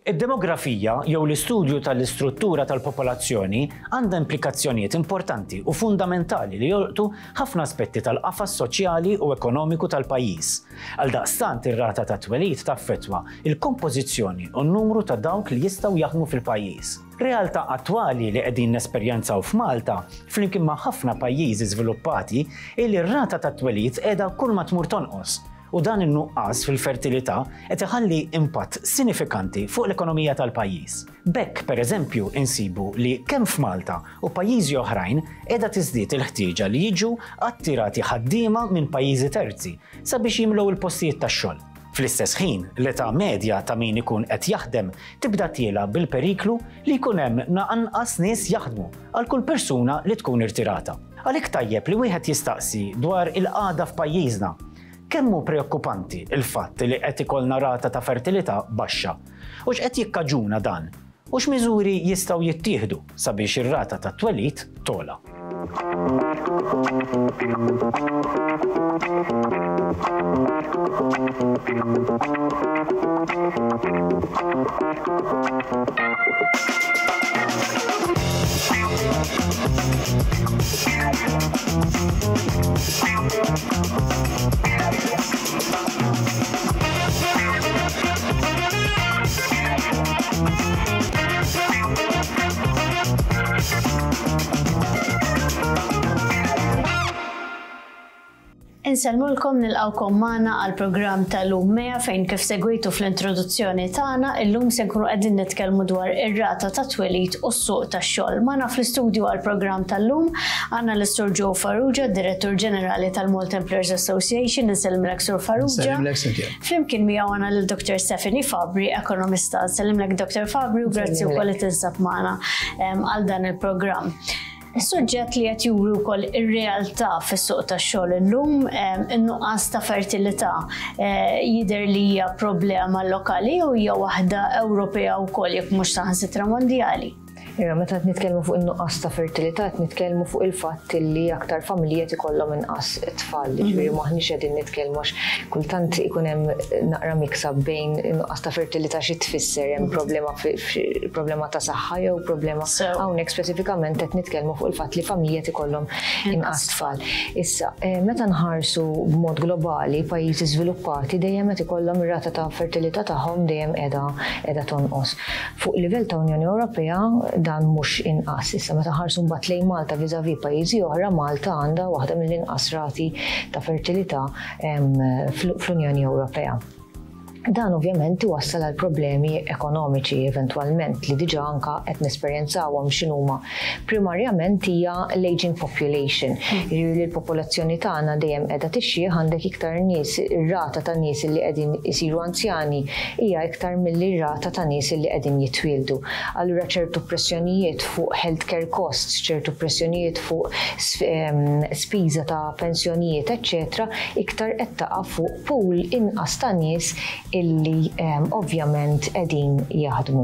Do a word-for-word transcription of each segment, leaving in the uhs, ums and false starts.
Id-demografija jew l-istudju tal-istruttura tal-popolazzjoni għandha implikazzjonijiet importanti u fundamentali li jolqtu ħafna aspetti tal-qafas soċjali u ekonomiku tal-pajjiż. Għaldaqstant, ir-rata ta' twelid taffettwa il-kompożizzjoni u n-numru ta' dawk li jistgħu jaħdmu fil-pajjiż. Realtà attwali li qegħdin nesperjenzaw f'Malta, flimkien ma' ħafna pajjiżi żviluppati, li r-rata ta' twelid qiegħda kull ma tmur tonqos, u dan in-nuqqas fil-fertilità qed iħalli impatt sinifikanti fuq l-ekonomija tal-pajjiż. B'hekk, per eżempju, insibu li kemm f'Malta u pajjiżi oħrajn qiegħda tiżdied il-ħtieġa li jiġu attirati ħaddiema minn pajjiżi terzi sabiex jimlew il-postijiet tax-xogħol. Fl-istess ħin, l-età medja ta' min ikun qed jaħdem tibda tiela bil-periklu li jkun hemm anqas nies jaħdmu għal kull persuna li tkun irtirata. Għalhekk tajjeb li wieħed jistaqsi dwar il-qagħda f'pajjiżna. Kemm hu preokkupanti il-fatt li qed ikollna rata ta' fertilità baxxa? U x'qed jikkaġuna dan? U x'miżuri jistgħu jittieħdu sabiex ir-rata ta' twelid togħla? Insellmulkom, nilqawkom magħna għal programm tal-lum MEA, fejn kif segwitu fl-introduzzjoni tagħna, illum se nkunu qegħdin nitkellmu dwar ir-rata ta' twelid u s-suq tax-xogħol. Magħna fl-istudju għal programm tal-lum għandna l-Sur Joe Farrugia, Direttur Ġenerali tal-Malta Employers Association. Insellmilek, Sur Farrugia. Flimkien miegħu għandna lil Doctor Stephanie Fabri, ekonomista. Nsellimlek, Doctor Fabri, u grazzi wkoll li tinsab magħna għal dan il-programm. Is-suġġett li qed juri wkoll ir-realtà fis-suq tax-xogħol illum, in-nuqqas ta' fertilità, jidher li hija problema lokali u hija waħda Ewropea wkoll, jekk mhux saħansitra mondjali. Ira, meta qed nitkellmu fuq in-nuqqas ta' fertilità, qed nitkellmu fuq il-fatt li aktar familji qed ikollhom inqas tfal, jiġifieri m'aħniex qegħdin nitkellmu, għax kultant ikun hemm naqra miksa bejn in-nuqqas ta' fertilità xi tfisser, hemm problema problema ta' saħħa jew problema hawnhekk speċifikament qed nitkellmu fuq il-fatt li familji qed ikollhom inqas tfal. Issa, meta nħarsu b'mod globali, pajjiżi żviluppati dejjem qed ikollhom ir-rata ta' fertilità tagħhom dejjem qiegħda qiegħda tonqos. Fuq livell ta' Unjoni Ewropea dan mhux inqas. Issa, meta ħarsu mbagħad lejn Malta vis-à-vis pajjiżi oħra, Malta għandha waħda mill-inqas rati ta' fertilità fl-Unjoni Ewropea. Dan ovvjament iwassal għal problemi ekonomiċi eventwalment li diġà anka qed nesperjenzawhom. X'inhuma? Primarjament hija l-aging population. Jiġifieri li l-popolazzjoni tagħna dejjem qiegħda tixjih, għandek iktar nies, ir-rata ta' nies li qegħdin isiru anzjani hija iktar milli rata ta' nies li qegħdin jitwieldu. Allura ċertu pressjonijiet fuq healthcare costs, ċertu pressjonijiet fuq spiża ta' pensjonijiet, eċċetera, iktar qed taqa' fuq pool inqas ta' nies illi um, ovvjament qegħdin jaħdmu.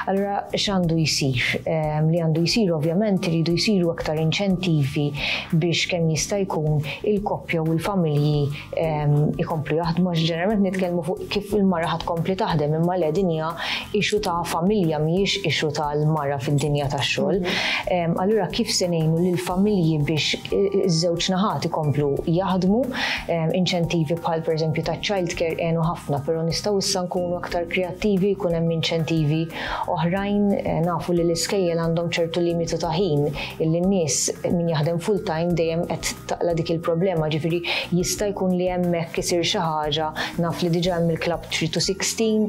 Allura x'għandu jsir? Um, li għandu jsir, ovvjament iridu jsiru aktar inċentivi biex kemm jista' jkun il-koppja u l-familji um, ikomplu jaħdmu, għax ġeneralment nitkellmu fuq kif il-mara ħa tkompli taħdem, imma le, din hija issue ta' familja, mhijiex issue tal-mara fid-dinja tax-xogħol. Um, allura kif se ngħinu lill-familji biex iż-żewġ naħat ikomplu jaħdmu? um, inċentivi bħal pereżempju ta' childcare għenu ħafna, però nistgħu issa nkunu aktar kreattivi, jkun hemm inċentivi oħrajn. Nafu li l-iskejjel għandhom ċertu limitu ta' ħin illi n-nies min jaħdem full time dejjem qed taqla dik il-problema, ġifieri jista' jkun li hemmhekk isir xi ħaġa. Naf li diġà hemm il-Club three to sixteen,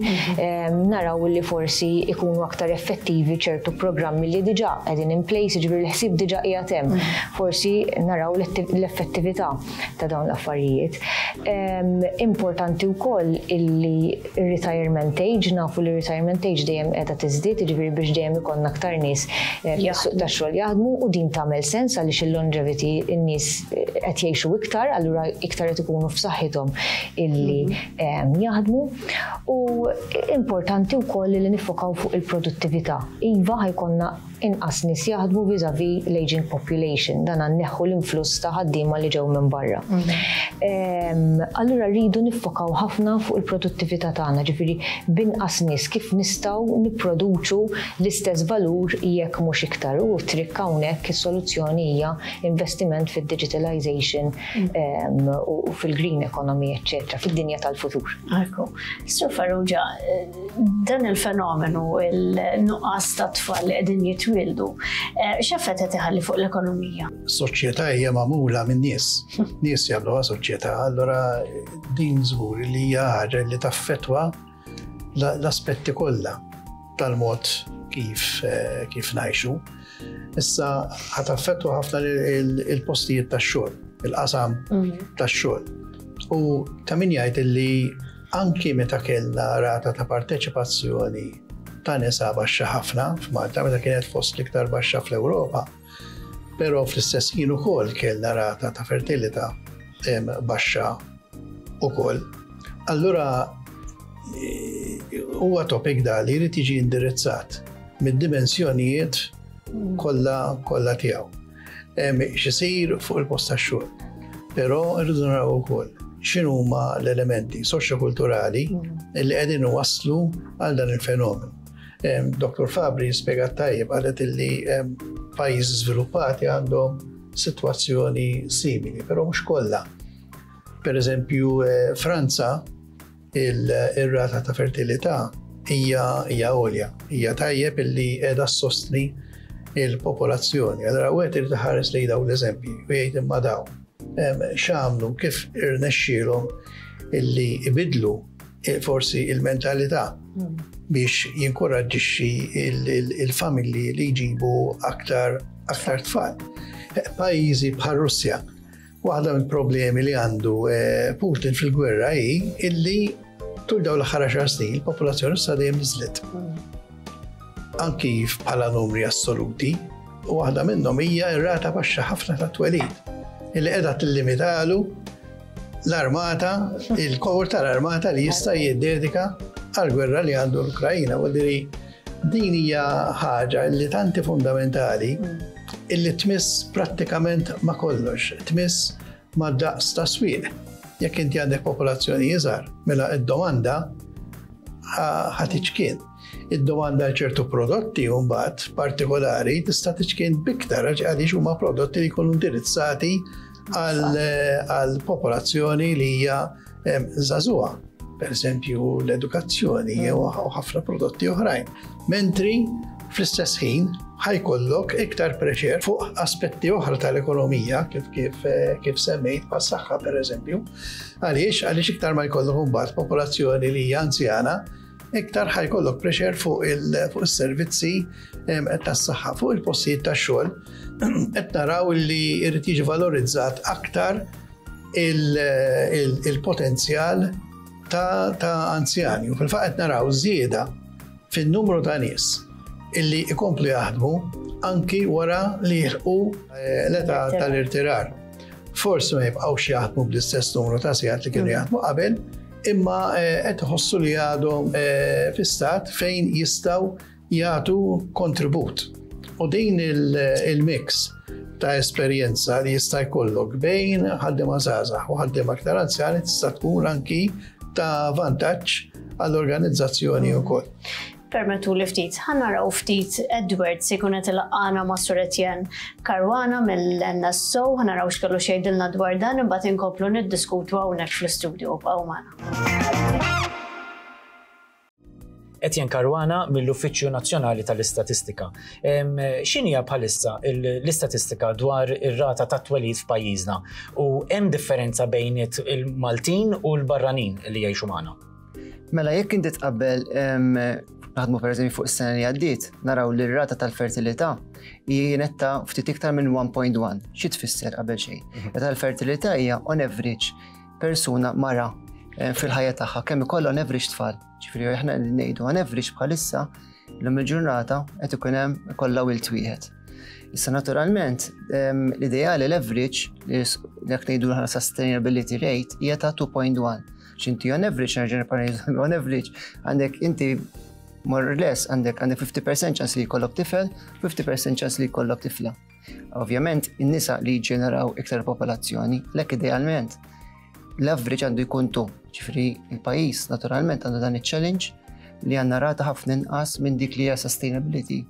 naraw li forsi ikunu aktar effettivi ċertu programmi li diġà qegħdin in place, ġifieri l-ħsieb diġà qiegħed hemm. Forsi naraw l-effettività ta' dawn l-affarijiet. Importanti wkoll illi retirement age, nafu li retirement age dejjem qiegħda tiżdied, jiġifieri biex dejjem ikollna aktar nies fis-suq tax-xogħol jaħdmu, u din tagħmel sens għaliex il-longevity, in-nies qed jgħixu iktar, allura iktar qed ikunu f'saħħithom illi jaħdmu. U importanti wkoll li nifokaw fuq il-produttività. Iva, ħa jkollna inqas nies jaħdmu vis-à-vis l-aging population, dan neħħu l-influss ta' ħaddiema li ġew minn barra. Allura rridu niffokaw ħafna fuq il-produttività. il-produttività tagħna, ġifieri binqas nies kif nistgħu nipproduċu l-istess valur jekk mhux iktar. U trick hawnhekk is-soluzzjoni hija investiment fid-digitalization mm. u fil-green economy, eċċetera, fid-dinja tal-futur. Ekku. Sur Farrugia, dan il-fenomenu, il-nuqqas ta' tfal li qegħdin jitwildu, eh, x'effett qed iħalli fuq l-ekonomija? Soċjetà hija magħmula minn nies. Nies jagħmluha soċjetà, allora din żgur li hija ħaġa li taffettwa l-aspetti kollha tal-mod kif eh, kif ngħixu. Issa ħa taffettwa ħafna il-postijiet tax-xogħol, il-qasam mhm. tax-xogħol. U ta' min jgħid li anki meta kellna rata ta' parteċipazzjoni ta' nisa baxxa ħafna f'Malta, meta kienet fost l-iktar baxxa fl-Ewropa, però fl-istess ħin ukoll kellna rata ta' fertilità baxxa ukoll. Allura eh, huwa topic da li jrid jiġi indirizzat mid-dimensjonijiet kollha kollha tiegħu. X'isir fuq il-post tax-xogħol. Però rridu naraw ukoll x'inhuma l-elementi soċjokulturali li qegħdin waslu għal dan il-fenomenu. Dottor Fabri spjegat tajjeb, qalet illi pajjiżi żviluppati għandhom sitwazzjoni simili, però mhux kollha. Per eżempju, eh, Franza il-rata ta' fertilità hija hija għolja, hija tajjeb illi qiegħda ssostni il-popolazzjoni. Allora wieħed irid iħares lejn dawn l-eżempji u jgħid imma daw x'għamlu, kif irnexxielhom illi ibidlu eh, forsi il-mentalità mm. biex jinkoraġġixxi il-familji li jġibu aktar aktar tfal. Eh, pajjiżi bħal Russja, waħda mill-problemi li għandu eh, Putin fil-gwerra hi illi tul dawn l-aħħar għaxar snin il-popolazzjoni Russa dejjem niżlet. Anki bħala numri assoluti, u waħda minnhom hija r-rata baxxa ħafna ta' twelid illi qiegħda tillimitalu l-armata, il-kor tal-armata li jista' jiddedika għal-gwerra li għandu l-Ukrajina. U din hija ħaġa li tanti fundamentali illi tmiss prattikament ma' kollox, tmiss ma' daqs ta' swieq. Jekk inti għandek popolazzjoni iżgħar, mela id-domanda ħa tiċkien. Id-domanda għal ċertu prodotti mbagħad partikolari tista' tiċkien biktar għaliex huma prodotti li jkunu indirizzati għal popolazzjoni li hija żagħżugħa. Per eżempju l-edukazzjoni jew ħafna prodotti oħrajn. Mentri fl-istess ħin ħa jkollok iktar pressure fuq aspetti oħra tal-ekonomija kif kif kif semmejt bħas-saħħa per eżempju. Għaliex għaliex iktar ma jkollok imbagħad popolazzjoni li hija anzjana, iktar ħa jkollok pressure fuq il-servizzi tas-saħħa, fuq il-postijiet tax-xogħol. Qed naraw li jrid jiġi valorizzat aktar il-potenzjal ta', ta anzjani. U fil-fatt qed naraw żieda fin-numru ta' nies illi ikomplu jaħdmu anki wara li jilħqu eh, l-età tal-irtirar. Forsi ma jibqgħux jaħdmu bl-istess numru ta' sigħat li kienu mm. jaħdmu qabel, imma eh, qed iħossu li għadhom eh, fi stat fejn jistgħu jagħtu kontribut. U din il-mix ta' esperjenza li jista' jkollok bejn ħaddiema żgħażagħ u ħaddiema aktar anzjani tista' tkun anki ta' vantaġġ għall-organizzazzjoni wkoll. Permettu li ftit, ħa naraw ftit Edward se jkun qed ilaqqana ma' Sur Etienne Caruana mill-N S O, ħa naraw x'kellu x'jgħidilna dwar dan, imbagħad inkomplu niddiskutu hawnhekk fl-istudio, bqgħu magħna. Etienne Caruana mill-Uffiċċju Nazzjonali tal-Istatistika. X'inhija bħalissa l-istatistika dwar ir-rata ta' twelid f'pajjiżna u hemm differenza bejn il-Maltin u l-barranin li jgħixu magħna? Mela, jekk inti tqabbel, naħdmu per eżempju fuq is-sena li għaddiet, naraw li r-rata tal-fertilità kienet ta' ftit iktar minn wieħed punt wieħed. Xi tfisser qabel xejn? Mhm. Rata tal-fertilità hija on average persuna mara eh, fil-ħajja tagħha kemm ikollha on average tfal. Ġifieri aħna ngħidu on average bħalissa l-lum il-ġurnata qed ikun hemm ikollha wild wieħed. Issa naturalment l-ideali, l-average li jekk ngħidu aħna sustainability rate hija ta' tnejn punt wieħed. X'inti on average, nerġa' on average, għandek inti more or less għandek għandek fifty percent ċans li jkollok tifel, fifty percent ċans li jkollok tifla. Ovvjament, in-nisa li jġeneraw iktar popolazzjoni, lek idealment L-average għandu jkun two. Ġifieri il-pajjiż naturalment għandu dan il-challenge li għandna rata ħafna inqas minn dik li hija sustainability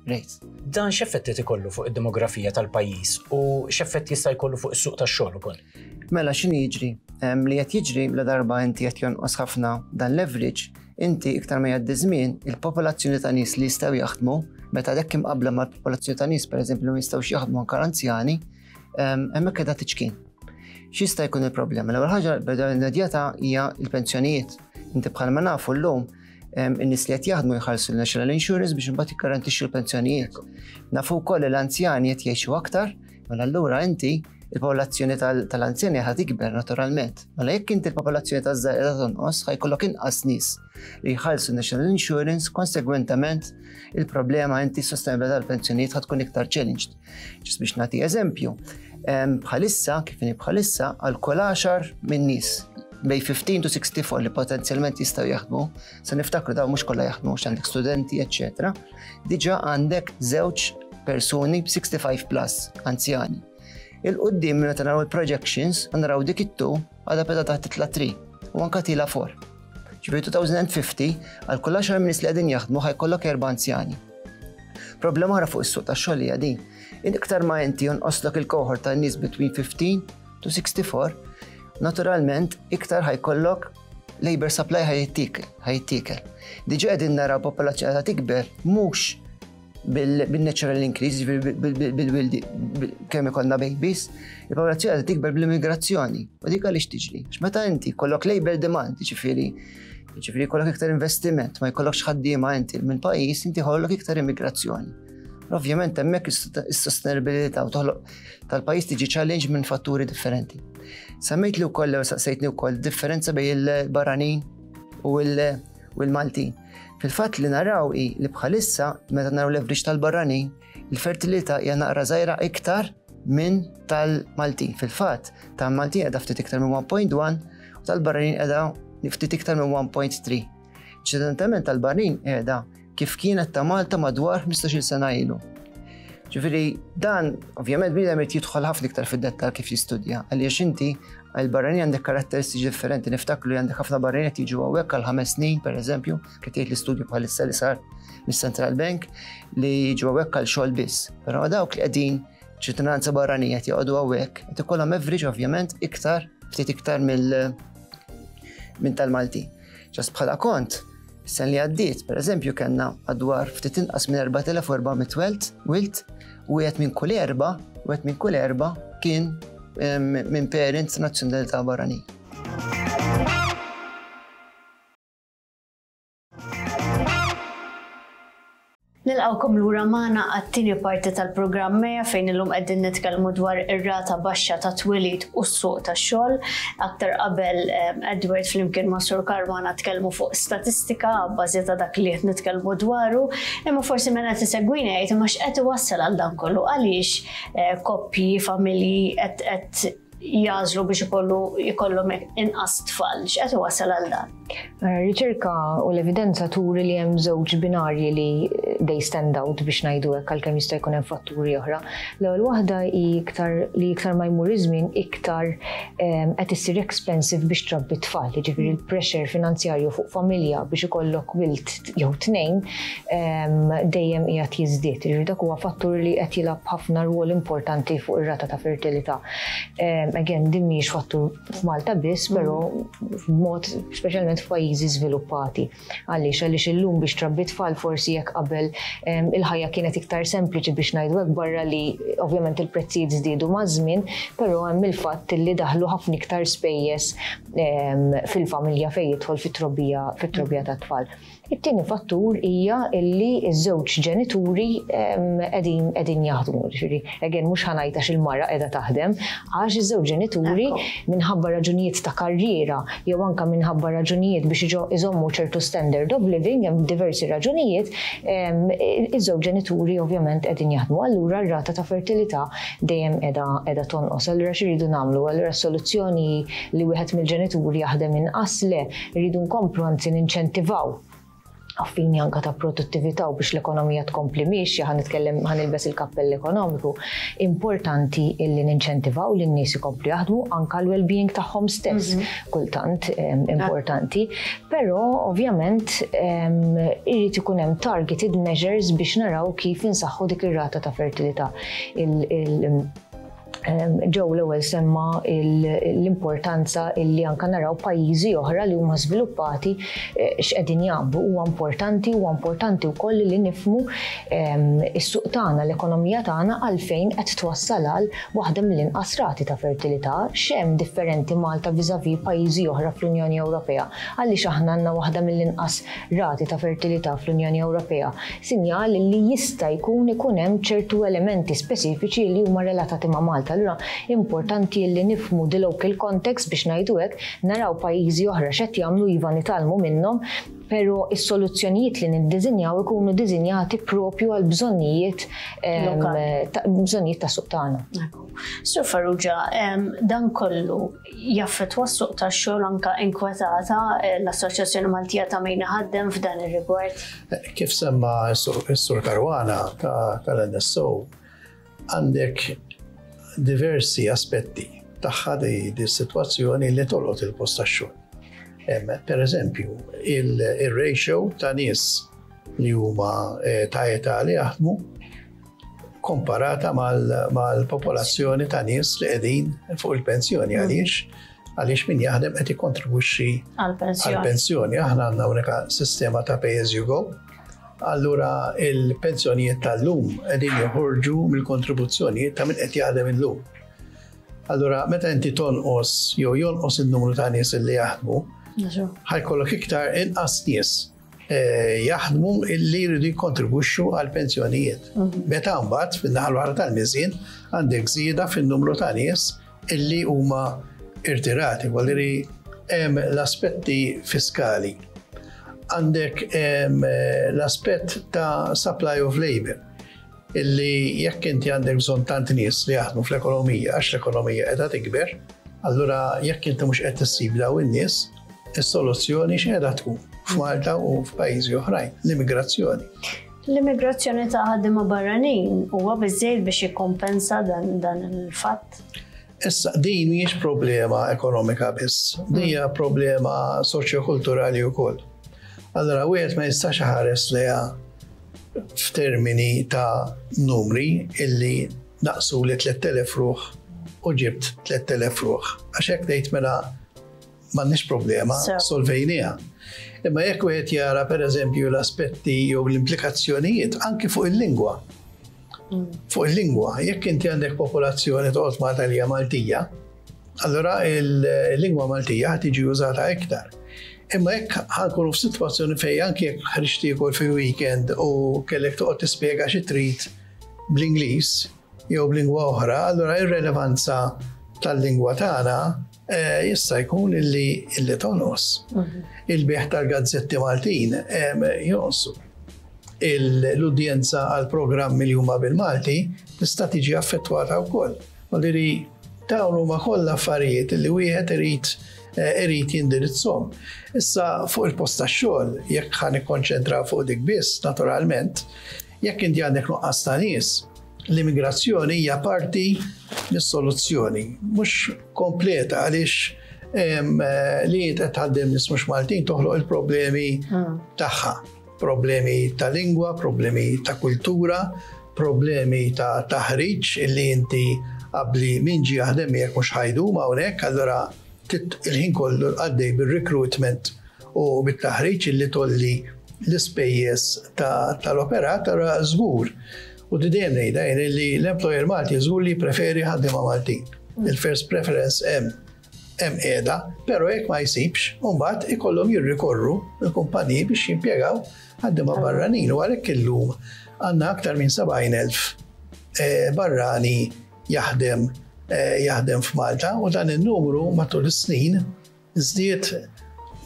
rate. Dan x'effetti ikollu fuq id-demografija tal-pajjiż u x'effett jista' jkollu fuq is-suq tax-xogħol ukoll? Mela x'inhi jiġri? Li qed jiġri la darba inti qed jonqos ħafna dan l-average, inti iktar ma jgħaddi żmien, il-popolazzjoni ta' nies li jistgħu jaħdmu, meta dak imqabbla mal-popolazzjoni ta' nies pereżempju li ma jistgħux jaħdmu anke anzjani, hemmhekk qiegħda tiċkien. X'jista' jkun il-problema? L-ewwel ħaġa immedjata hija l-pensjonijiet. Inti bħalma nafu llum in-nies li qed jaħdmu jħallsu l-National Insurance biex imbagħad jikkarantixxu l-pensjonijiet. Nafu wkoll li l-anzjani qed jgħixu aktar, mela allura inti il-popolazzjoni tal-anzjani ħa tikber naturalment. Mela jekk inti l-popolazzjoni taż-żgħar qiegħda tonqos, ħa jkollok inqas nies li jħallsu National Insurance, konsegwentament il-problema inti s-sostenibilità tal-pensjonijiet ħa tkun iktar challenged. Ġis biex nagħti eżempju, bħalissa, kif inhi bħalissa, għal kull għaxar minn nies bejn fifteen to sixty-four li potenzjalment jistgħu jaħdmu, se niftakru dawn mhux kollha jaħdmu, għax għandek studenti, eċċetera, diġà għandek żewġ persuni sixty-five plus anzjani. Il-qoddim meta naraw il-projections, naraw dik it-two għadha beda taħt titla' three u anka tila four. Ġifieri two thousand fifty għal kull għaxar nies li qegħdin jaħdmu ħa jkollok erba' anzjani. Problema oħra fuq is-suq tax-xogħol hija din. Iktar ma inti jonqoslok il-cohort ta' nies between fifteen to sixty-four, naturalment iktar ħa jkollok labor supply ħa jittikel. Diġà qegħdin naraw popolazzjoni ta' tikber mhux bil-natural increase, bil-wildi, kemm ikollna babies, il-popolazzjoni ta' tikber bl-immigrazzjoni. U dik għaliex tiġri? Għax meta inti jkollok labor demand, jiġifieri, jiġifieri jkollok iktar investiment, ma jkollokx ħaddiema inti minn pajjiż, inti jkollok iktar immigrazzjoni. Ovvjament hemmhekk is-sostenibilità u toħloq tal-pajjiż tiġi challenge minn fatturi differenti. Semmejt li wkoll saqsejtni wkoll differenza bejn il-barranin u l-Maltin. Fil-fatt li naraw hi li bħalissa meta naraw l-average tal-barranin, il-fertilità hija naqra żgħira iktar minn tal-Maltin. Fil-fatt tal-Maltin qiegħda ftit iktar minn one point one u tal-barranin qiegħda ftit iktar minn one point three. Ċedentament tal-barranin qiegħda kif kienet ta' Malta madwar ħmistax-il sena ilu. Ġifieri dan ovvjament bniedem irid jidħol ħafna iktar fid-dettall kif jistudja, għaliex inti għall-barranin għandek karatteristiċi differenti, niftakru li għandek ħafna barranin qed jiġu hawnhekk għal ħames snin, pereżempju, kif tgħid l-istudju bħalissa li sar mis-Central Bank, li jiġu hawnhekk għal xogħol biss. Però dawk li qegħdin ċittadinanza barranija qed joqogħdu hawnhekk, qed ikollhom average ovvjament iktar, ftit iktar mill-, minn tal-Maltin. Ġas bħala kont, is-sena li għaddiet, pereżempju, kellna madwar ftit inqas minn erbat elef u erba' mitt wilt, wilt, u wieħed minn kull erba', wieħed minn kull erba' kien, em, minn parents nazzjonalità barranin. Nilqawkom lura magħna għat-tieni parti tal-programm Meja fejn illum qegħdin nitkellmu dwar ir-rata baxxa ta' twelid u s-suq tax-xogħol. Aktar qabel, em, Edward flimkien ma' Sur Caruana tkellmu fuq statistika bbażi ta' dak li qed nitkellmu dwaru, imma forsi minn qed isegwina jgħid imma x'qed iwassal għal dan kollu, għaliex, eh, koppji, familji qed, qed jażlu biex ikollu, ikollhom inqas tfal, x'qed iwassal għal dan? Riċerka u l-evidenza turi li hemm żewġ binarji li they stand out biex ngħidu hekk għalkemm jista' jkun hemm fatturi oħra. L-ewwel waħda hi iktar li iktar ma jmur iż-żmien iktar, em, qed issir expensive biex trabbi tfal, jiġifieri l-pressure finanzjarju fuq familja biex ikollok wild jew tnejn, em, dejjem qiegħed jiżdied. Jiġifieri dak huwa fattur li qed jilgħab ħafna rwol importanti fuq ir-rata ta' fertilità. Em, again, din mhijiex fattur f'Malta biss, però b'mod speċjalment f'pajjiżi żviluppati. Għaliex? Għaliex illum biex trabbi tfal forsi jekk qabel, em, il-ħajja kienet iktar sempliċi biex ngħidu hekk, barra li ovvjament il-prezzijiet żdiedu maż-żmien, però hemm il-fatt li daħlu ħafna iktar spejjeż, em, fil-familja fejn jidħol fit-trobbija, fit-trobbija tat-tfal. It-tieni fattur hija illi ż-żewġ ġenituri, em, qegħdin, qegħdin jaħdmu, ġifieri, again mhux ħa ngħid għax il-mara qiegħda taħdem, għax iż-żewġ ġenituri Ekku. minħabba raġunijiet ta' karriera jew anke minħabba raġunijiet biex iġo-, iżommu ċertu standard of living, hemm diversi raġunijiet, em, iż-żewġ ġenituri ovvjament qegħdin jaħdmu. Allura r-rata ta' fertilità dejjem qiegħda, qiegħda tonqos. Allura x'iridu nagħmlu? Allura s-soluzzjoni li wieħed mill-ġenituri jaħdem inqas le, rridu nkomplu anzi ninċentivaw Għal fini anka ta' produttività u biex l-ekonomija tkompli miexja, ħa nitkellem, ħa nilbes il-kappell ekonomiku, importanti illi ninċentivaw li n-nies ikomplu jaħdmu, anka l-well-being tagħhom stess, mhm. kultant importanti, però ovvjament irid ikun hemm targeted measures biex naraw kif insaħħu dik ir-rata ta' fertilità. Ġew l-ewwel semma l-importanza illi anka naraw pajjiżi oħra li huma żviluppati eh, x'qegħdin jagħmlu. Huwa importanti, huwa importanti wkoll li nifhmu is-suq tagħna, l-ekonomija tagħna, għalfejn qed twassal għal waħda mill-inqas rati ta' fertilità, x'hemm differenti Malta viżavi pajjiżi oħra fl-Unjoni Ewropea. Għaliex aħna għandna waħda mill-inqas rati ta' fertilità fl-Unjoni Ewropea? Sinjal li jista' jkun ikun hemm ċertu elementi speċifiċi li huma relatati ma' Malta. Allura importanti li nifhmu the local context, biex ngħidu hekk, naraw pajjiżi oħra x'qed jagħmlu, iva, nitgħallmu minnhom, pero is-soluzzjonijiet li niddiżinjaw ikunu diżinjati propju għal bżonnijiet bżonnijiet ta' suq tagħna. Sur Farrugia, dan kollu jaffettwa s-suq tax-xogħol? Anka inkwetata eh, l-Assoċjazzjoni Maltija ta' Min Iħaddem f'dan ir-rigward? Kif semma s-Sur Caruana tal-N S O, għandek diversi aspetti tagħha di, di situazzjoni li tolqot il-post tax-xogħol. Per eżempju, il-ratio ta' nies li huma eh, ta' età li jaħdmu komparata mal-popolazzjoni ta' nies li qegħdin fuq il-pensjoni. mm. Għaliex? Għaliex min jaħdem qed ikkontribwixxi għal-pensjoni. Aħna għandna unika sistema ta' pay as you go. Allura il-pensjonijiet tal-lum qegħdin joħorġu mill-kontribuzzjonijiet ta' min qed jaħdem illum. Allura meta inti tonqos jew jonqos il-numru ta' nies li jaħdmu, ħa jkollok iktar inqas nies eh, jaħdmu illi jridu jikkontribwixxu għal pensjonijiet. Mhm. Meta mbagħad fin-naħa l tal-miżien għandek żieda fin-numru ta' nies illi huma irtirati, għaliri hemm l-aspetti fiskali. Għandek l-aspett ta' supply of labor, illi jekk inti għandek bżonn tant nies li jaħdmu fl-ekonomija, għax l-ekonomija qiegħda tikber, allura jekk inti mhux qed tissib daw in-nies, is-soluzzjoni x'qiegħda tkun f'Malta u f'pajjiżi oħrajn? L-immigrazzjoni. L-immigrazzjoni ta' ħaddiema barranin huwa biżejjed biex jikkompensa dan, dan il-fatt? Issa, din mhijiex problema ekonomika biss, din hija problema soċjokulturali wkoll. Allora, wieħed ma jistax ħares leha f'termini ta' numri illi naqsu li tliet elef ruħ u ġibt tliet elef ruħ. Għax hekk tgħid mela m'għandniex problema, solvejnieha. Imma jekk wieħed jara, pereżempju, l-aspetti jew l-implikazzjonijiet anki fuq il-lingwa. Mm. Fuq il-lingwa, jekk inti għandek popolazzjoni toqgħod Malta li hija Maltija, allura il-lingwa Maltija tiġi użata iktar. Imma jekk ħa nkunu f'sitwazzjoni fejn anki jekk ħriġt tiekol fil-weekend u kellek toqgħod tispjega xi trid bl-Ingliż jew b'lingwa oħra, allura ir-relevanza tal-lingwa tagħna eh, jista' jkun illi illi tonqos. Mhm. Il-bejgħ tal-gazzetti Maltin jonqsu. L-udjenza għal programmi li huma bil-Malti tista' tiġi affettwata wkoll. Għaliri dawn huma kollha affarijiet li wieħed irid eh, irid jindirizzhom. Issa, fuq il-post tax-xogħol, jekk ħa nikkonċentra fuq dik biss, naturalment, jekk inti għandek nuqqas ta' nies, l-immigrazzjoni hija parti mis-soluzzjoni, mhux kompleta, għaliex li qed tħaddem nies mhux Maltin toħloq il-problemi hmm. tagħha. Problemi ta' lingwa, problemi ta' kultura, problemi ta' taħriġ illi inti qabli min ġi jaħdem miegħek mhux ħa jdum hawnhekk, allura il-ħin kollu għaddej bil-recruitment u bit-taħriġ illi tgħolli l-ispejjeż tal-operat, allura żgur. U dejjem ngħidha li l-employer Malti żgur li preferi ħaddiema Maltin. Il-first preference hemm hemm qiegħda, però jekk ma jsibx, mbagħad ikollhom jirrikorru l-kumpaniji biex jimpjegaw ħaddiema barranin, u għalhekk illum għandna aktar minn sebgħin elf eh, barrani jaħdem eh, jaħdem f'Malta, u dan il-numru matul is-snin żdied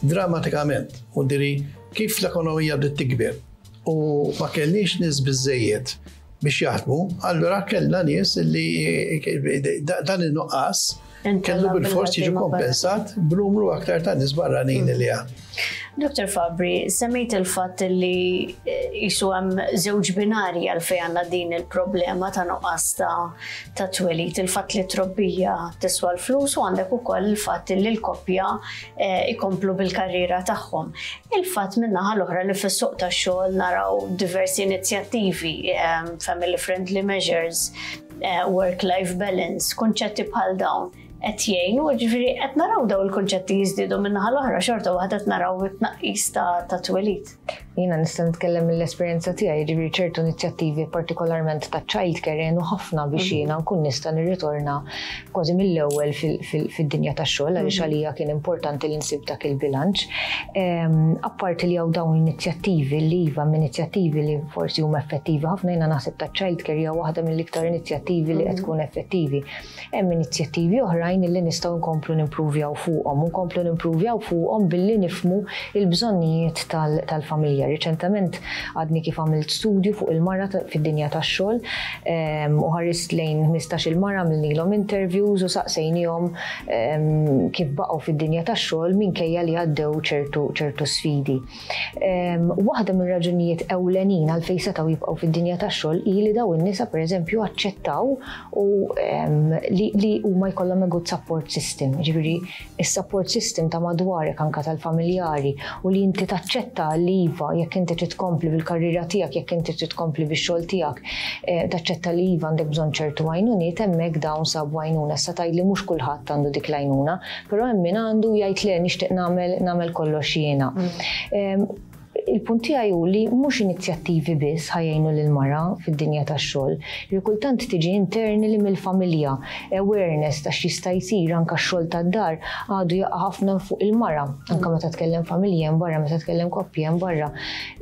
drammatikament. U diri kif l-ekonomija bdiet tikber u ma kellniex nies biżejjed biex jaħdmu, allura kellna nies li dan il-nuqqas. Kellu bil-fors jiġi kompensat b'numru aktar ta' nies barranin li għad. Dottor Fabri, semmejt il-fatt li jisu hemm żewġ binari għalfejn għandna din il-problema ta' nuqqas ta' twelid, il-fatt li trobbija tiswa l-flus u għandek ukoll il-fatt li l-koppja ikomplu bil-karriera tagħhom. Il-fatt min-naħa l-oħra li fis-suq tax-xogħol naraw diversi inizjattivi, family friendly measures, work-life balance, konċetti bħal dawn qed jgħinu, ġifieri qed naraw daw il-konċetti jiżdiedu, min-naħa l-oħra xorta waħda qed naraw it-tnaqqis ta' twelid. Jiena nista' nitkellem mill-esperjenza tiegħi, jiġifieri ċertu inizjattivi, partikolarment ta' child care, jgħinu ħafna biex jiena nkun nista' nirritorna kważi mill-ewwel fid-dinja tax-xogħol, għaliex għalija kien importanti li nsib dak il-bilanċ. Apparti li hawn dawn l-inizjattivi li iva inizjattivi li forsi huma effettivi ħafna, jiena naħseb ta' child care hija waħda mill-iktar inizjattivi li qed tkun effettivi. Hemm inizjattivi oħrajn li nistgħu nkomplu nimpruvjaw fuqhom, u nkomplu nimpruvjaw fuqhom billi nifhmu il-bżonnijiet tal-familja. Riċentement għadni kif għamilt studju fuq il-mara fid-dinja tax-xogħol u ħarist lejn ħmistax-il mara, għamilnilhom interviews u saqsejnihom kif baqgħu fid-dinja tax-xogħol minkejja li għaddew ċertu ċertu sfidi. Waħda mir-raġunijiet ewlenin għalfejn setgħu jibqgħu fid-dinja tax-xogħol hi li daw in-nisa, pereżempju, aċċettaw u li huma jkollhom a good support system. Ġifieri is-support system ta' madwarek, anka tal-familjari, u li inti taċċetta li iva, jekk inti trid tkompli bil-karriera tiegħek, jekk inti trid tkompli bix-xogħol tiegħek, eh, taċċetta li iva, għandek bżonn ċertu għajnuniet, hemmhekk dawn sabu għajnuna. Issa tgħid li mhux kulħadd għandu dik l-għajnuna, però hemm min għandu jgħid le, nixtieq nagħmel nagħmel kollox jiena. Mm. Il-punt tiegħi hu li mhux inizjattivi biss ħa jgħinu lil mara fid-dinja tax-xogħol. Li kultant tiġi interni li mill-familja, awareness ta' x'jista' jsir. Anke x-xogħol tad-dar għadu jaqa' ħafna fuq il-mara. Anke meta tkellem familja hemm barra, meta tkellem koppji hemm barra.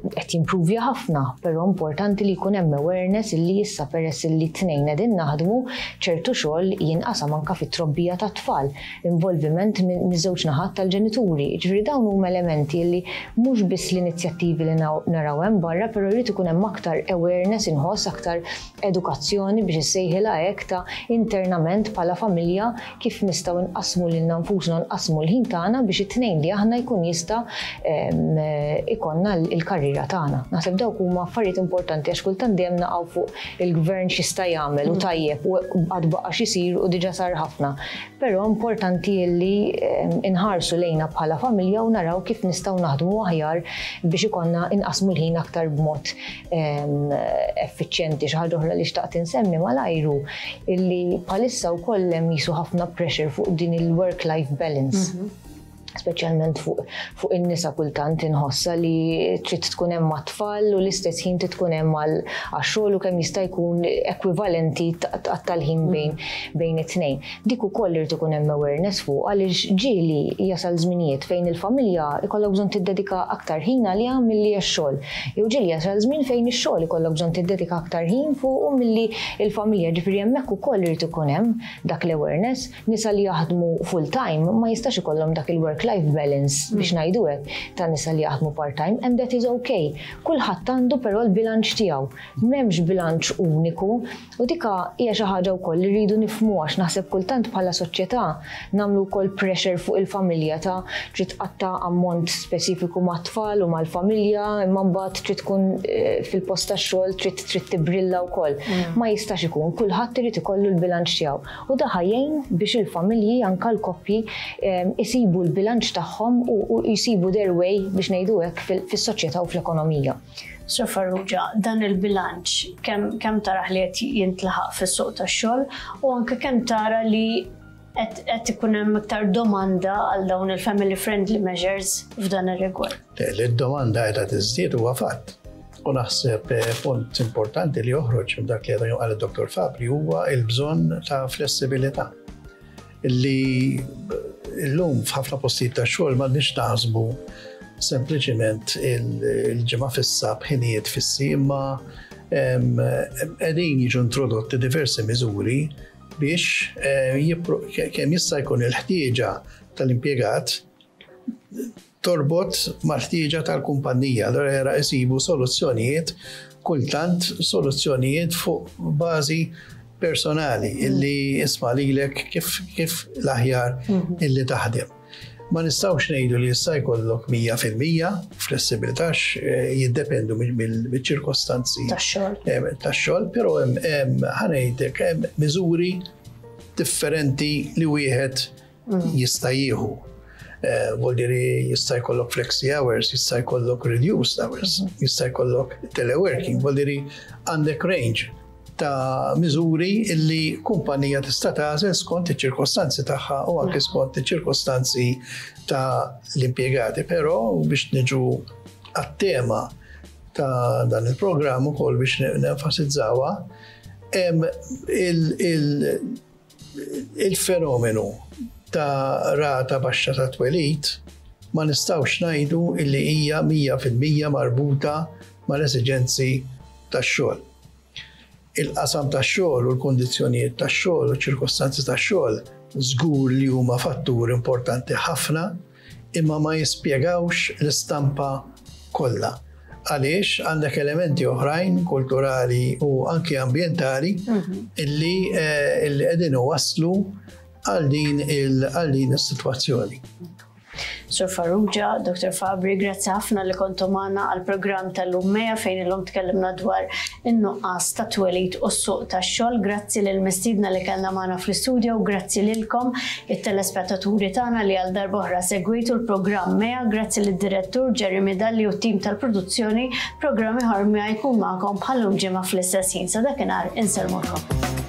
Qed jimpruvja ħafna, però importanti li jkun hemm awareness illi issa peress li tnejn qegħdin naħdmu, ċertu xogħol jinqasam, anke fit-trobbija tat-tfal, involviment miż-żewġ naħat tal-ġenituri. Ġifieri dawn huma elementi li mhux biss l-inizjattivi li naraw hemm barra, però jrid ikun hemm aktar awareness, inħoss aktar edukazzjoni, biex issejħilha hekk, ta' internament bħala familja kif nistgħu nqasmu lilna nfusna, nqasmu l-ħin tagħna biex it-tnejn li aħna jkun jista' ikollna l-karriera tagħna. Naħseb dawk huma affarijiet importanti, għax kultant dejjem naqgħu fuq il-gvern x'jista' jagħmel, u tajjeb u għad baqa' x'isir u diġà sar ħafna. Però importanti li inħarsu lejna bħala familja u naraw kif nistgħu naħdmu aħjar biex ikollna inqasmu l-ħin aktar b'mod effiċjenti. Xi ħaġa oħra li xtaqt insemmi malajr hu illi bħalissa wkoll hemm jisu ħafna pressure fuq din il-work-life balance. Mhm speċjalment fuq fuq in-nisa kultant inħossa li trid tkun hemm mat-tfal u l-istess ħin trid tkun hemm għax-xogħol u kemm jista' jkun ekwivalenti tal-ħin bejn bejn it-tnejn. Dik ukoll irid ikun hemm awareness fuq, għaliex ġieli jasal żminijiet fejn il-familja ikollok bżonn tiddedika aktar ħin għaliha milli x-xogħol. Jew ġieli jasal żmien fejn ix-xogħol ikollok bżonn tiddedika aktar ħin fuq milli il-familja. Ġifieri hemmhekk ukoll irid ikun hemm dak l-awareness. Nisa li jaħdmu full time ma jistax ikollhom dak il-work life balance, biex ngħidu hekk, ta' nisa li jaħdmu part-time, and that is okay. Kulħadd għandu però l-bilanċ tiegħu. M'hemmx bilanċ uniku u dika hija xi ħaġa wkoll li rridu nifhmu, għax naħseb kultant bħala soċjetà nagħmlu wkoll pressure fuq il-familja ta' trid tqatta' ammont speċifiku mat-tfal u mal-familja, imma mbagħad trid tkun eh, fil-post tax-xogħol, trid trid tibrilla wkoll. Mm. Ma jistax ikun, kulħadd irid ikollu l-bilanċ tiegħu. U da ħa jgħin biex il-familji, anka l-koppji, eh, isibu l-bilanċ tagħhom u jsibu their way, biex ngħidu hekk, fis-soċjetà u fl-ekonomija. Sur Farrugia, dan il-bilanċ kemm kem taraħ li qed jintlaħaq fis-suq tax-xogħol u anke kemm tara li qed ikun hemm iktar domanda għal dawn il-family friendly measures f'dan ir-rigward? Li d-domanda qiegħda tiżdied huwa fatt. U naħseb eh, punt importanti li joħroġ minn dak li għadu qal id-Dottor Fabri huwa il-bżonn ta' flessibilità. Li l-lum f'ħafna postijiet ta' xogħol m'għandniex naħsbu sempliċiment il-ġimgħa fissa b'ħinijiet fissi, imma qegħdin jiġu introdotti diversi miżuri biex eh, kemm jista' jkun il-ħtieġa tal-impjegat torbot mal-ħtieġa tal-kumpanija. Allora jara jsibu soluzzjonijiet, kultant soluzzjonijiet fuq bażi Personali illi isma' lilek kif kif l-aħjar mhm. illi taħdem. Ma nistgħux ngħidu li jista' jkollok mija fil-mija flessibilità, eh, jiddependu mill-ċirkostanzi tax-xogħol. Tax-xogħol, però hemm, ħa ngħidlek, hemm miżuri differenti li wieħed mm. jista' jieħu. Eh, Vuol jista' jkollok flexi hours, jista' jkollok reduced hours, mhm. jista' jkollok teleworking, vuol għandek range ta' miżuri illi kumpanija tista' tagħżel skont iċ-ċirkostanzi tagħha u anke skont iċ-ċirkostanzi ta' l-impjegati. Però biex niġu għat-tema ta' dan il-programm ukoll, biex nenfasizzawha, il-fenomenu ta' rata baxxa ta' twelid ma nistgħux ngħidu illi hija mija fil-mija marbuta mal-esiġenzi tax-xogħol. Il-qasam tax-xogħol u l-kundizzjonijiet tax-xogħol u ċirkostanzi tax-xogħol żgur li huma fattur importanti ħafna, imma ma jispjegawx l-istampa kollha. Għaliex għandek elementi oħrajn kulturali u anki ambjentali mhm. illi eh, illi qegħdin waslu għal din għal din is-sitwazzjoni. Sur Farrugia, Doktor Fabri, grazzi ħafna li kontu magħna għal-programm tal-lum MEA, fejn illum tkellimna dwar in-nuqqas ta' twelid u s-suq tax-xogħol. Grazzi lil mistiedna li kellna magħna fl-istudio u grazzi lilkom it-telespettaturi tagħna li għal darb'oħra segwitu l-programm MEA. Grazzi lid-direttur Jeremy Dalli u t-tim tal-produzzjoni. Programm ieħor MEA jkun magħkom bħal-lum ġimgħa fl-istess ħin. Sa dakinhar insellmulkom.